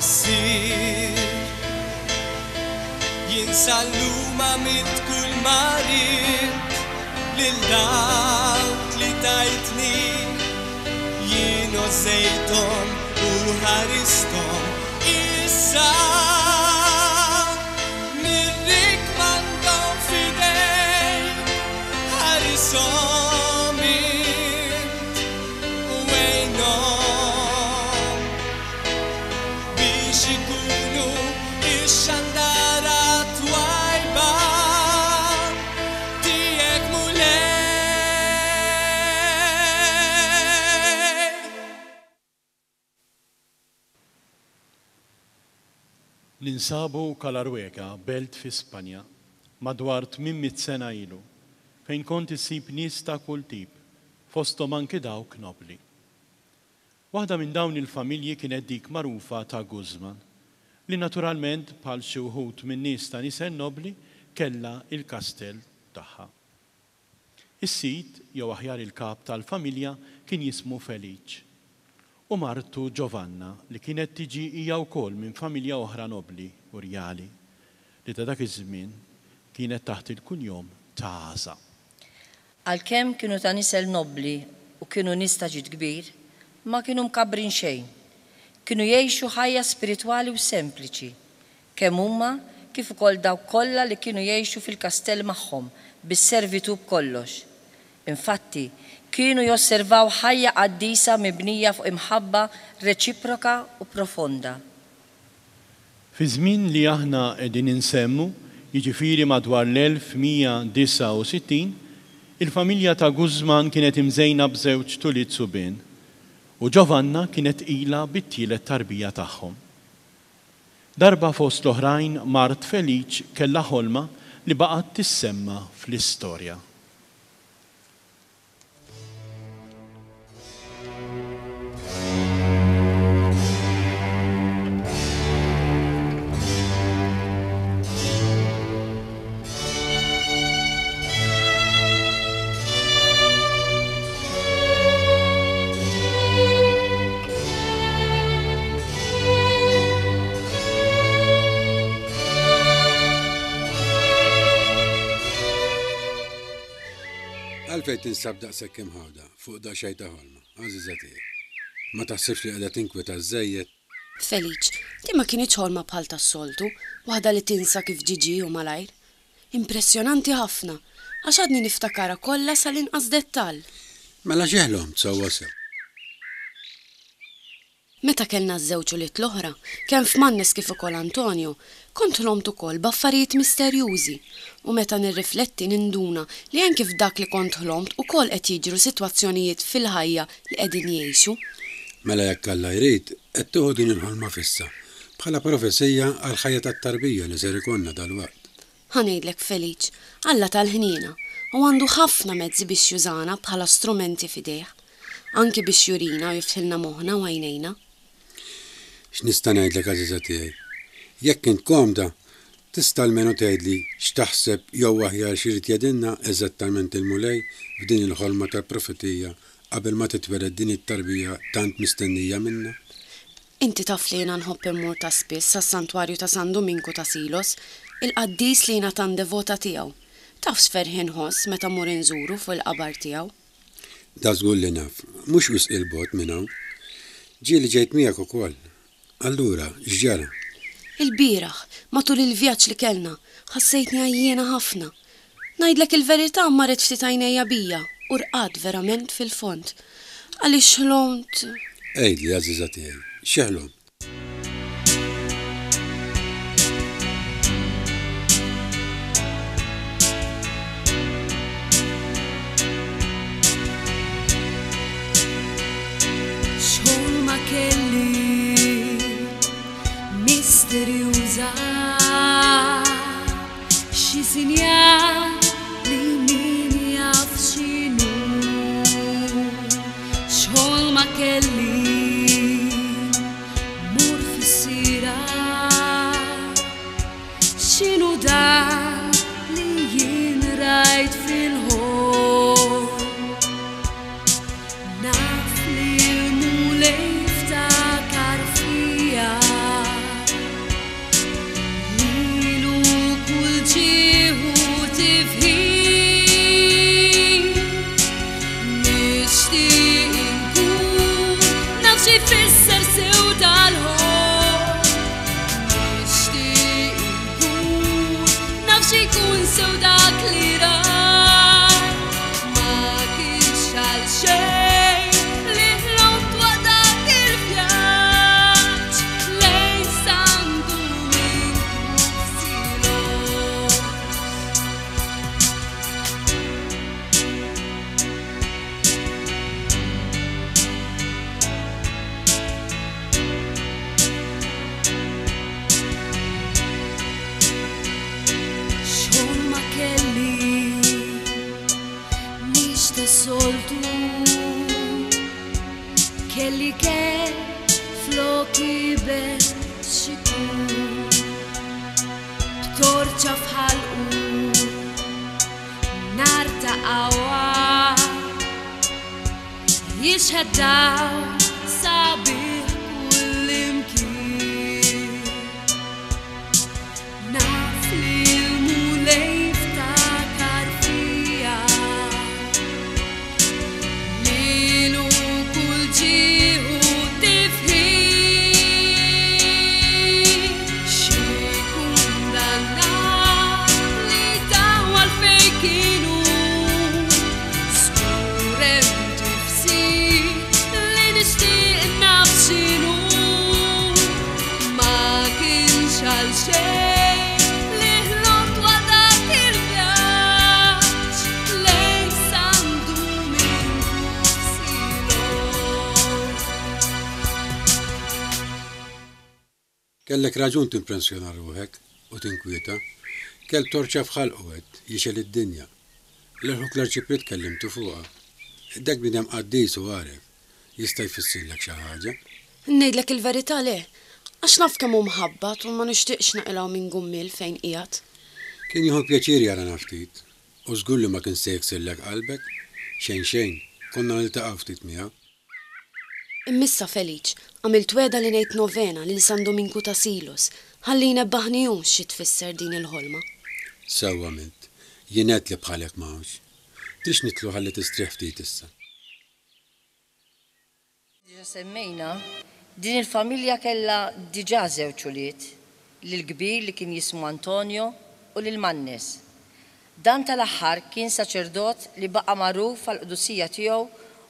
Missier. Jien sal-lum għamilt kull ma ridt lil dawk li tajtni. Jien għożżejthom u ħaristhom. Issa nirrikmandhom f'idejk, ħarishom int u għinhom biex ikunu x-xandara twajba tiegħek Mulej. Ninsabu Calaruega, belt fi Spanja, madwar 800 sena ilu, fejn kont issib nies ta' kull tip, fosthom anki dawk nobbli. Waħda minn dawn il-familji kienet dik magħrufa ta' Guzman, li naturalment bħal xi wħud min-nies ta' nisel nobbli kellha il-kastell tagħha. Is-sid, jew aħjar il-kap tal-familja kien jismu Feliċ, u martu Giovanna li kienet tiġi hija wkoll minn familja oħra nobbli u rjali, li ta' dak iż-żmien kienet taħt il-kunjom ta' Aza. Għalkemm kienu ta' nisel nobbli u kienu nies ta' ġid kbir, ma kienu mkabbrin xejn. Kienu jgħixu ħajja spiritwali u sempliċi, kemm huma kif ukoll dawk kollha li kienu jgħixu fil-kastell magħhom bis-servitù b'kollox. Infatti, kienu josservaw ħajja qaddisa mibnija fuq imħabba reċiproka u profonda. Fiż-żmien li aħna qegħdin insemmu, jiġifieri madwar l-1169, il-familja ta' Guzman kienet imżejna b'żewġt ulied subien, u Giovanna kienet tqila bit-tielet tarbija tagħhom. Darba fost l-oħrajn mart Feliċ kellha ħolma li baqgħet tissemma fl-istorja. Għalfejn tinsab daqshekk imħawda fuq daqsxejn ta' ħolma, għażiża tiegħi? Ma taħsibx li qiegħda tinkweta żżejjed? Feliċ, din ma kinitx ħolma bħal tas-soltu, waħda li tinsa kif ġie ġie u malajr. Impressjonanti ħafna, għax għadni niftakarha kollha sal-inqas dettall. Mela xi ħlomt sewwa sew? Meta kellna ż-żewġ ulied l-oħra, kemm Fmannes kif ukoll Antonio, kont ħlomt ukoll b'affarijiet misterjużi u meta nirrifletti ninduna li anki f'dak li kont ħlomt ukoll qed jiġru sitwazzjonijiet fil-ħajja li qegħdin jgħixu. Mela jekk Alla jrid, qed tieħu din il-ħolma fissa bħala profezija għall-ħajja tat-tarbija li ser ikollna dalwaqt. Ħa ngħidlek Feliċ, Alla tal-ħniena u għandu ħafna mezzi biex jużana bħala strumenti f'idejh. Anki biex jurina u jiftħilna moħħna u għajnejna. X'nista' ngħidlek għażiża tiegħi? Jekk int komda, tista' almenu tgħidli x'taħseb jew aħjar x'irid jgħidilna eżattament il-Mulej f'din il-ħolma tal-profetija qabel ma titwieled din it-tarbija tant mistennija minna? Inti taf li jiena nħobb immur ta' spiss sas-Santwarju ta' San Duminku ta' Silos, il-qaddis li jiena tant devota tiegħu. Taf x'ferħ inħoss meta mmur inżuru fuq il-qabar tiegħu? Dażgur li naf. Mhux wisq 'il bogħod minn hawn. Ġieli ġejt miegħek ukoll. Allura, x'ġara? Ilbieraħ, matul il-vjaġġ li kellna, ħassejtni għajjiena ħafna. Ngħidlek il-verità marret ftit għajnejja bija u rqadt verament fil-fond. Għaliex ħlomt. Għidli, għażiża tiegħi, xi ħlomt? X'ħolma kelli misterjuża Xi sinjal li min jaf x'inhu X'ħolma kelli mur fis-sira X'inhu dan li jien rajt fil-ħolm Naf li l-Mulej ftakar fija. sew dak li rajt. Ma kienx għal xejn li ħlomt waqt dak il-vjaġġ lejn San Duminku f'Silos. X'ħolma kelli mhix tas-soltu Kelli kelb flok iben x'ikun B'torċa f'ħalqu nar ta' qawwa Jixhed dawl sabiħ kullimkien. Naf li l-Mulej ftakar fija. Lilu kull ġieħ u tifħir. Xi kundanna li tawwal fejn kienu. Żgur hemm tifsir li nixtieq naf x'inhu. Ma kienx għal xejn li ħlomt waqt dak il-vjaġġ lejn San Duminku f'Silos. Kellek raġun timpressjona ruħek u tinkwieta. Kelb torċa f'ħalqu għedt, jixgħel id-dinja. Lil ħuk l-Arċipriet kellimtu fuqha. Dak bniedem qaddis u għaref. Jista' jfissirlek xi ħaġa. Ngħidlek il-verità le. Għax naf kemm hu mħabbat u ma nixtieqx naqilgħu minn gummiel fejn qiegħed. Kien jieħu pjaċir jarana ftit. U żgur li ma kien se jiksirlek qalbek. Xejn xejn, konna niltaqgħu ftit miegħu. Imma issa Feliċ, għamilt wegħda li ngħid novena lil San Duminku ta' Silos, ħalli jnebbaħni hu xi tfisser din il-ħolma. Sewwa għamilt. Jien għedt li bħalek ma hawnx. Tridx nidħlu ħalli tistrieħ ftit issa. Diġa semmejna, din il-familja kellha diġa żewġ ulied, lill-kbir li kien jismu Antonio u lil Mannes. Dan tal-aħħar kien saċerdot li baqa' magħruf għall-qdusija tiegħu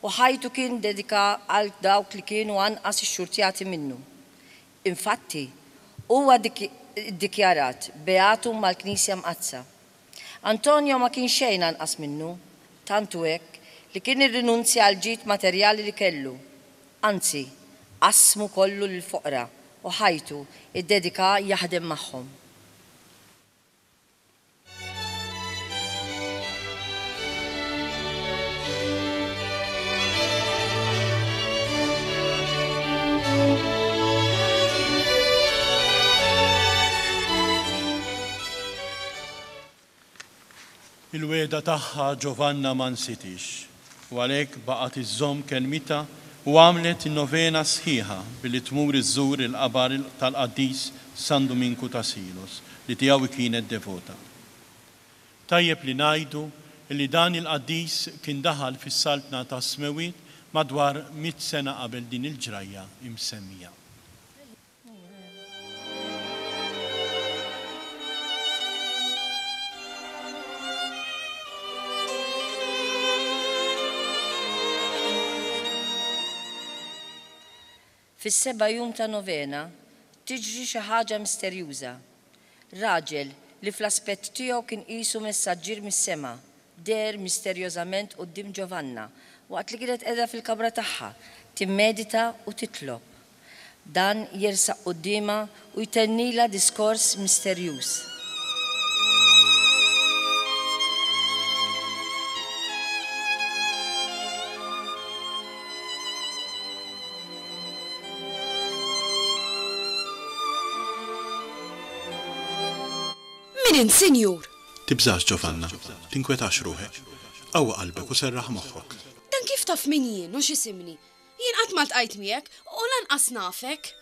u ħajtu kien dedika għal dawk li kienu anqas ixxurtjati minnu. Infatti, huwa ddikjarat beatu mal-Knisja Mqaddsa. Antonio ma kien xejn anqas minnu, tant hu hekk li kien irrinunzja għall-ġid materjali li kellu. Anzi, qassmu kollu lill-foqra u ħajtu ddedika jaħdem magħhom. Il-wegħda tagħha Giovanna ma nsitiex, u għalhekk baqgħet iżżomm kelmitha u għamlet in-novena sħiħa billi tmur iżżur il-qabar tal-qaddis San Duminku ta' Silos, li tiegħu hi kienet devota. Tajjeb li ngħidu li dan il-qaddis kien daħal fis-Saltna tas-Smewwiet madwar mitt sena qabel din il-ġrajja imsemmija. Fis-seba' jum ta' novena, tiġri xi ħaġa misterjuża. Raġel, li fl-aspett tiegħu kien qisu messaġġier mis-sema, deher misterjożament quddiem Giovanna waqt li kienet qiegħda fil-kamra tagħha timmedita u titlob. Dan jersaq quddiemha u jtennilha diskors misterjuż. Min int, sinjur? Tibżax, Giovanna. Tinkwetax ruħek. Qawwi qalbek u serraħ moħħok. Dan kif taf min jien u x'isimni? Jien qatt ma ltqajt miegħek u lanqas nafek.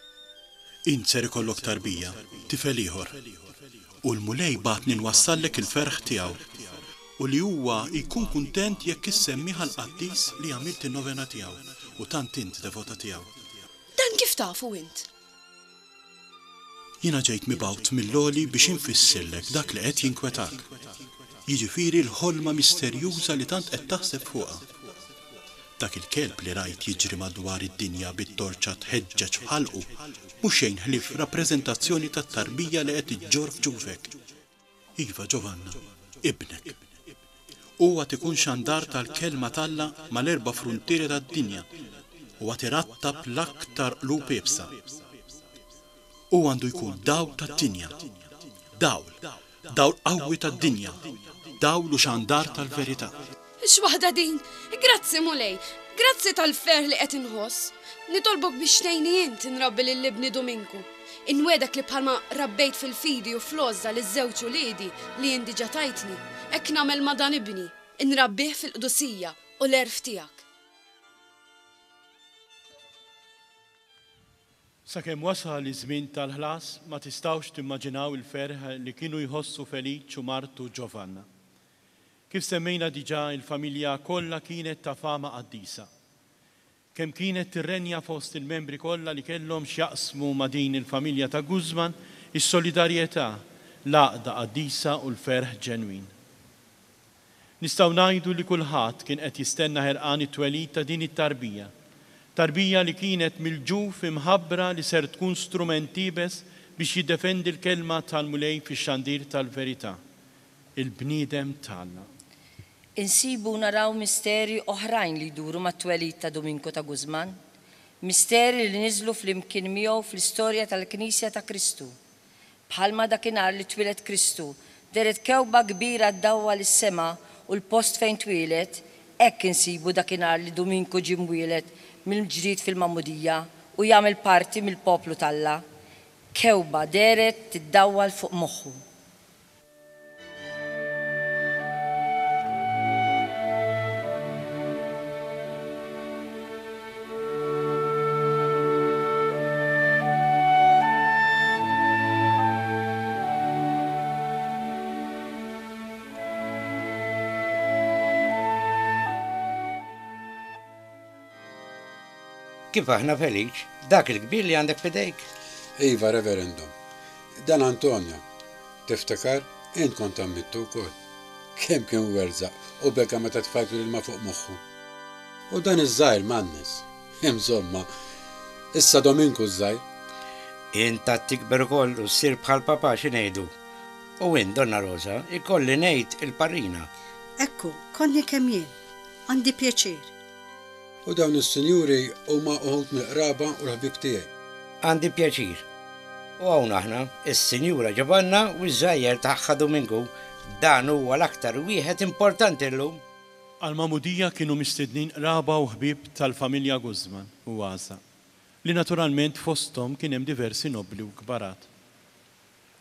Int ser ikollok tarbija, tifel ieħor. U l-Mulej bagħatni nwassallek il-ferħ tiegħu, u li huwa jkun kuntent jekk issemmih għall-qaddis li għamilt in-novena tiegħu u tant int devota tiegħu. Dan kif tafu int? Jiena ġejt mibgħut mill-Għoli biex infissirlek dak li qed jinkwetak, jiġifieri l-ħolma misterjuża li tant qed taħseb fuqha. Dak il-kelb li rajt jiġri madwar id-dinja bit-torċa tħeġġeġ f'ħalqu mhu xejn ħlief rappreżentazzjoni tat-tarbija li qed iġġorr f'ġufek. Iva, Giovanna, ibnek. Hu għad ikun xandar tal-Kelma t'Alla mal-erba' fruntieri tad-dinja u għad irattab l-aktar qlub iebsa. Hu għandu jkun dawl tad-dinja. Dawl, dawl qawwi tad-dinja, dawl u xandar tal-verità. X'waħda din! Grazzi Mulej! Grazzi tal-ferħ li qed inħoss! Nitolbok biex tgħinni int inrabbi lil ibni Duminku. Inwiegħdek li bħalma rabbejt fil-fidi u fl-għożża liż-żewġ uliedi li int diġà tajtni, hekk nagħmel ma' dan ibni, inrabbih fil-qdusija u l-għerf tiegħek. Sakemm wasal iż-żmien tal-ħlas, ma tistgħux timmaġinaw il-ferħ li kienu jħossu Feliċ u martu Giovanna. Kif semmejna diġà, il-familja kollha kienet ta' fama qaddisa. Kemm kienet tirrenja fost il-membri kollha li kellhom x'jaqsmu ma' din il-familja ta' Guzman is-solidarjetà, l-għaqda qaddisa u l-ferħ ġenwin. Nistgħu ngħidu li kulħadd kien qed jistenna ħerqan it-twelid ta' din it-tarbija. Tarbija li kienet mill-ġuf imħabbra li ser tkun strument iebes biex jiddefendi l-kelma tal-Mulej fix-xandir tal-verità. Il-bniedem t'Alla. Insibu u naraw misteri oħrajn li jduru mat-twelid ta' Duminku ta' Guzman, misteri li niżlu flimkien miegħu fl-istorja tal-Knisja ta' Kristu. Bħalma dakinhar li twieled Kristu, dehret kewkba kbira ddawwal is-sema u l-post fejn twieled, hekk insibu dakinhar li Duminku ġie mwieled mill-ġdid fil-Magħmudija u jagħmel parti mill-poplu t'Alla, kewkba dehret tiddawwal fuq moħħu. Kif aħna Feliċ, dak il-kbir li għandek f'idejk? Iva, Reverendum. Dan Antonio. Tiftakar? Int kont għammidtu wkoll. Kemm kien werżaq u beka meta tfajtlu l-ilma fuq moħħu. U dan iż-żgħir Mannes. Imsomma, issa Dominku ż-żgħir. Int għad tikber ukoll u ssir bħal papà xi ngħidu? U int, Donna Rosa, ikolli ngħid il-parrina. Ekku, konni kemm jien. Għandi pjaċir. U dawn is-sinjuri huma uħud mill-qraba u l-ħbieb tiegħi. Għandi pjaċir. U hawn aħna, is-Sinjura Giovanna u ż-żgħajjer tagħha Duminku. Dan huwa l-aktar wieħed importanti llum. Għall-magħmudija kienu mistednin qraba u ħbieb tal-familja Guzman u Għaża, li naturalment fosthom kien hemm diversi nobbli u kbarat.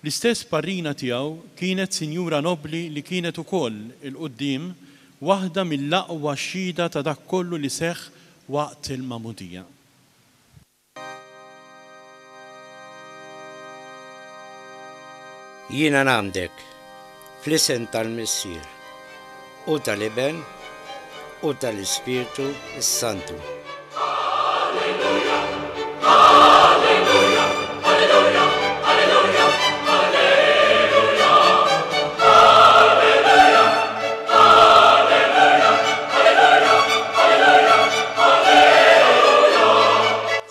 L-istess parrina tiegħu kienet sinjura nobbli li kienet ukoll, 'il quddiem, waħda mill-aqwa xhieda ta' dak kollu li seħħ waqt il-magħmudija. Jiena ngħammdek fl-isem tal-Missier, u tal-Iben, u tal-Ispirtu s-Santu.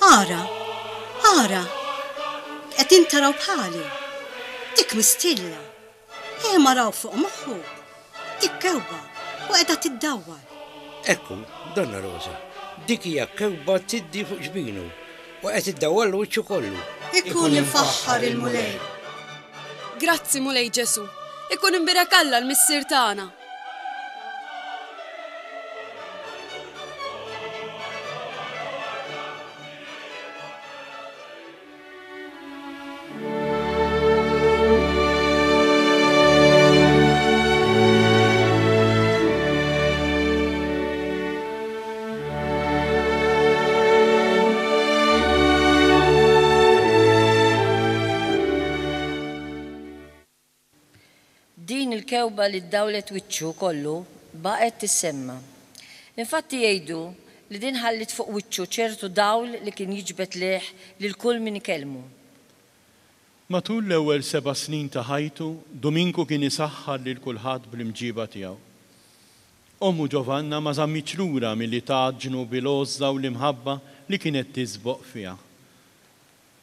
Ara! Ara! Qegħdin taraw bħali? Dik mistilla! Ejja maraw fuq moħħu! Dik kewba u qiegħda tiddawwar. Ekku, Donna Rosa, dik hija kewba tiddi fuq ġbinu u qed iddawwarlu wiċċu kollu. Ikun imfaħħar il-Mulej! Grazzi, Mulej Ġesù! Ikun imbierek Alla l-Missier tagħna! Din il-kewba li ddawlet wiċċu kollu baqgħet tissemma. Infatti jgħidu li din ħalliet fuq wiċċu ċertu dawl li kien jiġbed lejh lil kull min ikellmu. Matul l-ewwel seba' snin ta' ħajtu, Duminku kien isaħħar lil kulħadd bl-imġiba tiegħu. Ommu Giovanna ma żammitx lura milli tgħaġġnu bil-għożża u l-imħabba li kienet tisboq fiha.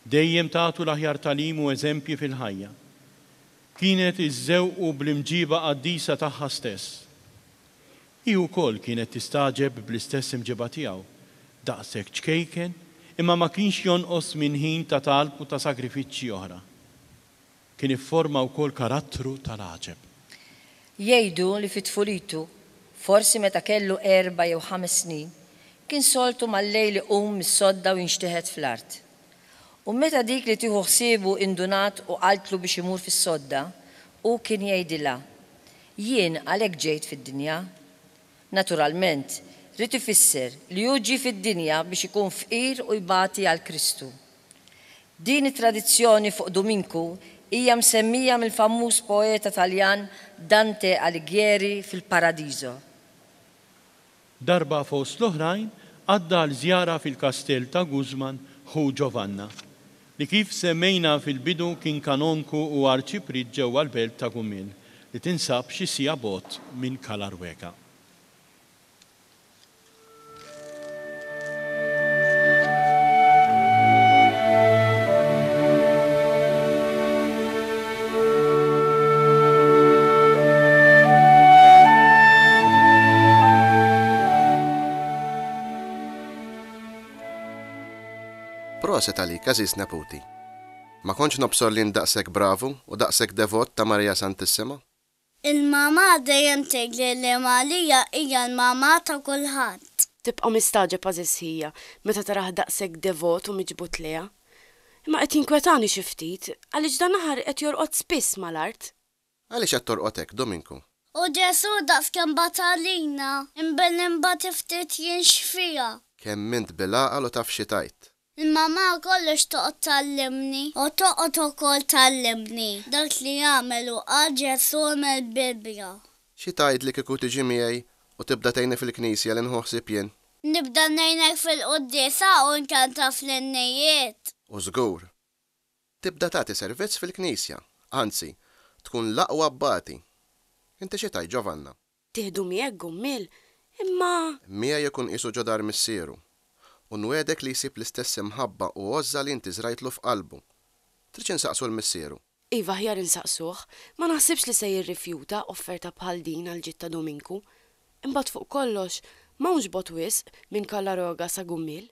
Dejjem tagħtu l-aħjar tagħlim u eżempji fil-ħajja. Kienet iżżewqu bl-imġiba qaddisa tagħha stess. Hi wkoll kienet tistagħġeb bl-istess imġiba tiegħu, daqshekk ċkejken, imma ma kienx jonqos minn ħin ta' talb u ta' sagrifiċċji oħra. Kien ifforma wkoll karattru tal-għaġeb. Jgħidu li fi tfulitu, forsi meta kellu erba' jew ħames snin, kien soltu mal-lejl iqum mis-sodda u jinxteħet fl-art. U meta dik li tieħu ħsiebu indunat u qaltlu biex imur fis-sodda, hu kien jgħidilha, Jien għalhekk ġejt fid-dinja. Naturalment, ried ifisser li hu ġie fid-dinja biex ikun fqir u jbati għal Kristu. Din it-tradizzjoni fuq Duminku hija msemmija mill-famuż poeta Taljan Dante Alighieri fil-Paradiso. Darba fost l-oħrajn għadda għal żjara fil-kastell ta' Guzman ħu Giovanna, li kif semmejna fil-bidu kien kanonku u arċipriet ġewwa l-belt ta' Gumil, li tinsab xi siegħa bogħod minn Calaruega. Proset għalik, għażiż neputi. Ma kontx nobsor li int daqshekk bravu u daqshekk devot ta' Marija Santissima. Il-mamà dejjem tgħidli li Marija hija l-mamà ta' kulħadd. Tibqa' mistagħġeb għażiż ħija meta tarah daqshekk devot u miġbud lejha. Imma qed jinkwetani xi ftit għaliex dan l-aħħar qed jorqod spiss mal-art. Għaliex qed torqod hekk, Dominku? U Ġesù daqskemm bata għalina, imbilli nbati ftit jien x'fiha? Kemm int bil-għaqal u taf xi tgħid! Il-mamà kollox toqgħod tgħallimni u toqgħod ukoll tgħallimni dak li għamel u qal Ġesù mill-Bibbja. Xi tgħidli kieku tiġi miegħi u tibda tgħinni fil-knisja li nħu ħsieb jien? Nibda ngħinek fil-quddiesa u nkanta fl-innijiet. U żgur. Tibda tagħti servizz fil-knisja, anzi, tkun l-aqwa abbati. Inti xi tgħid, Giovanna? Tieħdu miegħek, Gummiel? Imma. Miegħi ikun qisu ġo dar missieru. U nwegħdek li jsib l-istess imħabba u għożża li inti żrajtlu f'qalbu. Tridx insaqsu 'l missieru? Iva, aħjar insaqsuh. Ma naħsibx li se jirrifjuta offerta bħal din għall-ġid ta' Dominku. Imbagħad fuq kollox, m'hawnx bogħod wisq minn Callaroga sa Gummiel.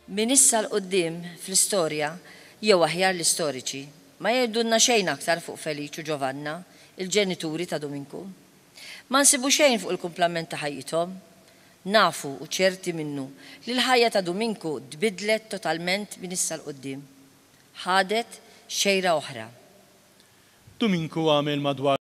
Minn issa 'l quddiem fl-istorja, jew aħjar l-istoriċi, ma jgħidulna xejn aktar fuq Feliċ u Giovanna, il-ġenituri ta' Duminku. Ma nsibu xejn fuq il-kumplament ta' ħajjithom. Nafu u ċerti minnu li l-ħajja ta' Duminku tbiddlet totalment minn issa 'l quddiem. Ħadet xejra oħra. Duminku għamel madwar.